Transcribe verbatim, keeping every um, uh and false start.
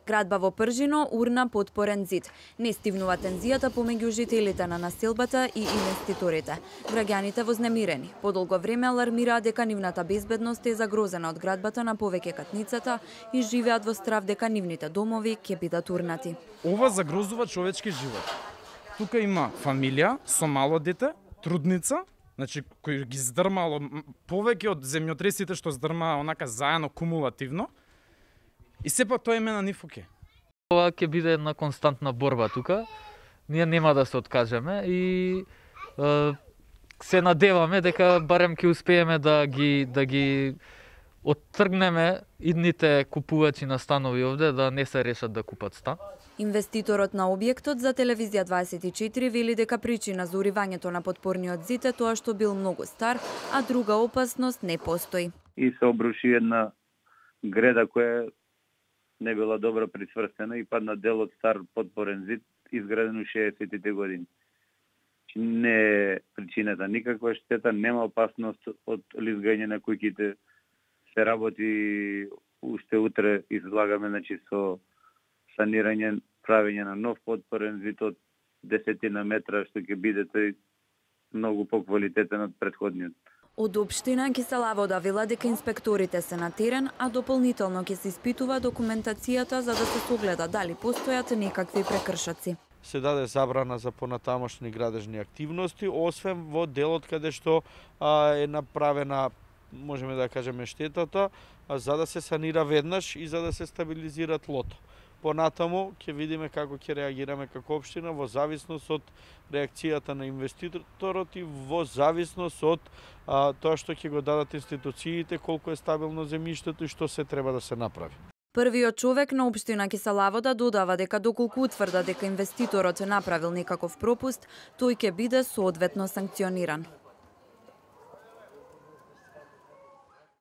Градба во Пржино урна потпорен зид. Не стивнува тензијата помеѓу жителите на населбата и инвеститорите. Граѓаните вознемирени. Подолго време алармираа дека нивната безбедност е загрозена од градбата на повеќе катницата и живеат во страв дека нивните домови ќе бидат урнати. Ова загрозува човечки живот. Тука има фамилија со мало дете, трудница, значи кој ги здрмало повеќе од земјотресите што здрмаа онака заедно кумулативно. И сепак тоа име на нив оке. Ова ќе биде една константна борба тука. Ние нема да се откажеме и е, се надеваме дека барем ќе успееме да ги да ги оттргнеме идните купувачи на станови овде да не се решат да купат стан. Инвеститорот на објектот за телевизија дваесет и четири вели дека причина за уривањето на потпорниот зид е тоа што бил многу стар, а друга опасност не постои. И се обруши една греда која не била добро прицврстена и падна дел од стар потпорен зид изграден у шеесеттите години. Не е причината никаква штета, нема опасност од лизгање на куќите. Се работи уште утре, излагаме значи со санирање, правење на нов потпорен зид од десетина метра, што ќе биде тој многу поквалитетен од претходниот. Од општина Кисела Вода вела дека инспекторите се на терен, а дополнително ќе се испитува документацијата за да се согледа дали постојат некакви прекршоци. Се даде забрана за понатамошни градежни активности, освен во делот каде што а, е направена, можеме да кажеме, штетата, а, за да се санира веднаш и за да се стабилизира тлото. Понатаму ќе видиме како ќе реагираме како општина во зависност од реакцијата на инвеститорот и во зависност од а, тоа што ќе го дадат институциите, колку е стабилно земјиштето и што се треба да се направи. Првиот човек на општина Кисела Вода додава дека доколку утврда дека инвеститорот направил некаков пропуст, тој ќе биде соодветно санкциониран.